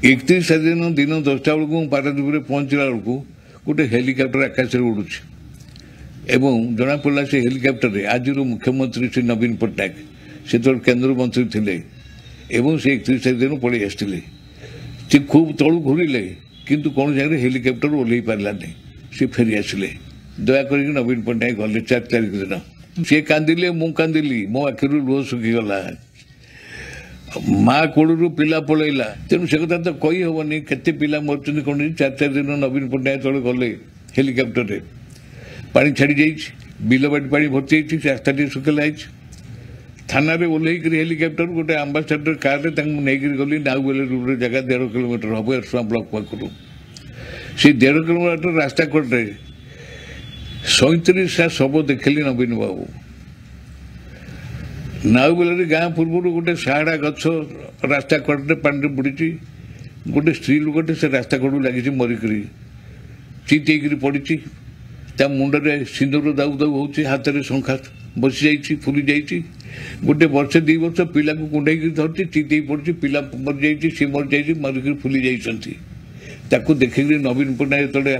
31 ତାରିଖ ଦିନ ଦିନ 10ଟା ବେଳକୁ ମୁଁ ପାରାଦ୍ୱୀପରେ ପହଞ୍ଚିଲା ବେଳକୁ ଗୋଟେ ହେଲିକପ୍ଟର ଆକାଶରେ ଉଡ଼ୁଛି ଏବଂ ଜଣାପଡ଼ିଲା ସେ ହେଲିକପ୍ଟରରେ ଆଜିର ମୁଖ୍ୟମନ୍ତ୍ରୀ ଶ୍ରୀ ନବୀନ ପଟ୍ଟନାୟକ ସେତେବେଳେ କେନ୍ଦ୍ରମନ୍ତ୍ରୀ ଥିଲେ ଏବଂ ସେ 31 ତାରିଖ ଦିନ ପଳେଇ ଆସିଥିଲେ। ସେ ଖୁବ୍ ତଳୁ ଘୁରିଲେ, କିନ୍ତୁ କୌଣସି ଜାଗାରେ ହେଲିକପ୍ଟର ଓହ୍ଲେଇ ପାରିଲାନି, ସେ ଫେରି ଆସିଲେ। ଦୟା କରିକି ନବୀନ ପଟ୍ଟନାୟକ ଗଲେ 4 ତାରିଖ ଦିନ। ସେ କାନ୍ଦିଲେ, ମୁଁ କାନ୍ଦିଲି, ମୋ ଆଖିରୁ ଲୁହ ଶୁଖିଗଲା। ମା କୋଳରୁ ପିଲା ପଳେଇଲା, ତେଣୁ ସେ କଥା ତ କହିହେବନି କେତେ ପିଲା ମରୁଛନ୍ତି କ'ଣ। 4 4 ଦିନ ନବୀନ ପଟ୍ଟନାୟକ ତଳେ ଗଲେ ହେଲିକପ୍ଟରରେ, ପାଣି ଛାଡ଼ି ଯାଇଛି, ବିଲବାଡ଼ି ପାଣି ଭର୍ତ୍ତି ହେଇଛି, ରାସ୍ତା ଟିକେ ଶୁଖିଲା ହେଇଛି। ଥାନାରେ ଓହ୍ଲେଇକିରି ହେଲିକପ୍ଟର ଗୋଟେ ଆମ୍ବାସାଡର କାରରେ ତାଙ୍କୁ ନେଇକିରି ଗଲି ନାଉବେଲେ ଗୋଟେ ଜାଗା, 1.5 କିଲୋମିଟର ହେବ ଏରସମା ବ୍ଲକ ପାଖରୁ। ସେଇ 1.5 କିଲୋମିଟର ରାସ୍ତା କଡ଼ରେ 37ଟା ଶବ ଦେଖିଲି ନବୀନ ବାବୁ। ନାଉବେଲାରେ ଗାଁ ପୂର୍ବରୁ ଗୋଟେ ସାହାଡ଼ା ଗଛ ରାସ୍ତା କଡ଼ରେ ପାଣିରେ ବୁଡ଼ିଛି। ଗୋଟେ ସ୍ତ୍ରୀ ଲୋକଟେ ସେ ରାସ୍ତା କଡ଼କୁ ଲାଗିଛି ମରିକରି, ଚିତ୍ ହେଇକିରି ପଡ଼ିଛି। ତା ମୁଣ୍ଡରେ ସିନ୍ଦୁର ଦାଉ ଦାଉ ହେଉଛି, ହାତରେ ଶଙ୍ଖା ବସିଯାଇଛି, ଫୁଲି ଯାଇଛି। ଗୋଟେ ବର୍ଷ 2 ବର୍ଷ ପିଲାକୁ କୁଣ୍ଢେଇକି ଧରିଛି, ଚିତ୍ ହେଇ ପଡ଼ିଛି, ପିଲା ମରିଯାଇଛି, ସିଏ ମରିଯାଇଛି, ମରିକରି ଫୁଲି ଯାଇଛନ୍ତି। ତାକୁ ଦେଖିକିରି ନବୀନ ପଟ୍ଟନାୟକ ଯେତେବେଳେ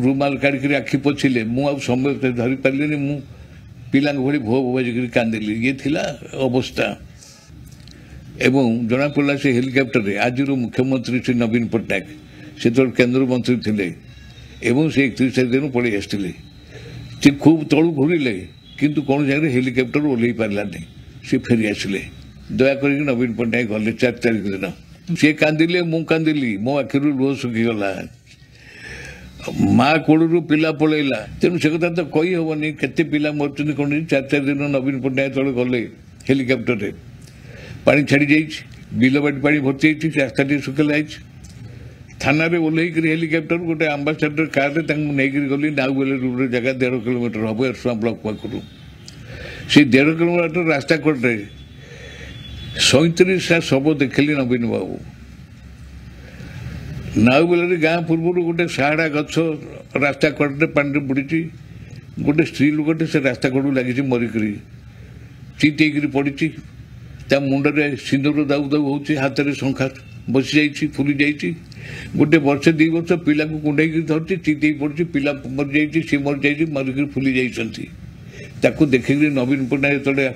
ରୁମାଲ କାଢ଼ିକିରି ଆଖି ପୋଛିଲେ, ମୁଁ ଆଉ ସମୟ ଧରିପାରିଲିନି, ମୁଁ ପିଲାଙ୍କ ଭଳି ଭୋ ବାଜିକିରି କାନ୍ଦିଲି। ଇଏ ଥିଲା ଅବସ୍ଥା। ଏବଂ ଜଣାପଡ଼ିଲା ସେ ହେଲିକପ୍ଟରରେ ଆଜିର ମୁଖ୍ୟମନ୍ତ୍ରୀ ଶ୍ରୀ ନବୀନ ପଟ୍ଟନାୟକ ସେତେବେଳେ କେନ୍ଦ୍ରମନ୍ତ୍ରୀ ଥିଲେ ଏବଂ ସେ 31 ତାରିଖ ଦିନ ପଳେଇ ଆସିଥିଲେ। ସେ ଖୁବ୍ ତଳୁ ଘୁରିଲେ, କିନ୍ତୁ କୌଣସି ଜାଗାରେ ହେଲିକପ୍ଟର ଓହ୍ଲେଇ ପାରିଲାନି, ସେ ଫେରି ଆସିଲେ। ଦୟା କରିକି ନବୀନ ପଟ୍ଟନାୟକ ଗଲେ 4 ତାରିଖ ଦିନ। ସେ କାନ୍ଦିଲେ, ମୁଁ କାନ୍ଦିଲି, ମୋ ଆଖିରୁ ଲୁହ ଶୁଖିଗଲା। ମା କୋଳରୁ ପିଲା ପଳେଇଲା, ତେଣୁ ସେ କଥା ତ କହିହେବନି କେତେ ପିଲା ମରୁଛନ୍ତି କ'ଣ। 4 4 ଦିନ ନବୀନ ପଟ୍ଟନାୟକ ତଳେ ଗଲେ ହେଲିକପ୍ଟରରେ, ପାଣି ଛାଡ଼ି ଯାଇଛି, ବିଲବାଡ଼ି ପାଣି ଭର୍ତ୍ତି ହେଇଛି, ରାସ୍ତା ଟିକେ ଶୁଖିଲା ହେଇଛି। ଥାନାରେ ଓହ୍ଲେଇକିରି ହେଲିକପ୍ଟର ଗୋଟେ ଆମ୍ବାସାଡର କାରରେ ତାଙ୍କୁ ନେଇକିରି ଗଲି ନାଉବେଲେ ଗୋଟେ ଜାଗା, 1.5 କିଲୋମିଟର ହେବ ଏରସମା ବ୍ଲକ ପାଖରୁ। ସେଇ 1.5 କିଲୋମିଟର ରାସ୍ତା କଡ଼ରେ 37ଟା ଶବ ଦେଖିଲି ନବୀନ ବାବୁ। ନାଉବେଲାରେ ଗାଁ ପୂର୍ବରୁ ଗୋଟେ ସାହାଡ଼ା ଗଛ ରାସ୍ତା କଡ଼ରେ ପାଣିରେ ବୁଡ଼ିଛି। ଗୋଟେ ସ୍ତ୍ରୀ ଲୋକଟେ ସେ ରାସ୍ତା କଡ଼କୁ ଲାଗିଛି ମରିକରି, ଚିତ୍ ହେଇକିରି ପଡ଼ିଛି। ତା ମୁଣ୍ଡରେ ସିନ୍ଦୁର ଦାଉ ଦାଉ ହେଉଛି, ହାତରେ ଶଙ୍ଖା ବସିଯାଇଛି, ଫୁଲି ଯାଇଛି। ଗୋଟେ ବର୍ଷ 2 ବର୍ଷ ପିଲାକୁ କୁଣ୍ଢେଇକି ଧରିଛି, ଚିତ୍ ହେଇ ପଡ଼ିଛି, ପିଲା ମରିଯାଇଛି, ସିଏ ମରିଯାଇଛି, ମରିକରି ଫୁଲି ଯାଇଛନ୍ତି। ତାକୁ ଦେଖିକିରି ନବୀନ ପଟ୍ଟନାୟକ ଯେତେବେଳେ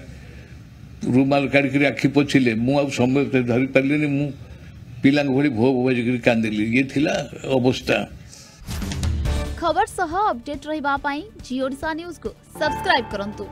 ରୁମାଲ କାଢ଼ିକିରି ଆଖି ପୋଛିଲେ, ମୁଁ ଆଉ ସମୟ ଧରିପାରିଲିନି, ମୁଁ ପିଲାଙ୍କ ଭଳି ଭୋ ବାଜିକିରି କାନ୍ଦିଲି। ଇଏ ଥିଲା ଅବସ୍ଥା। ଖବର ସହ ଅପଡେଟ୍ ରହିବା ପାଇଁ ଜି ଓଡ଼ିଶା ନ୍ୟୁଜକୁ ସବସ୍କ୍ରାଇବ୍ କରନ୍ତୁ।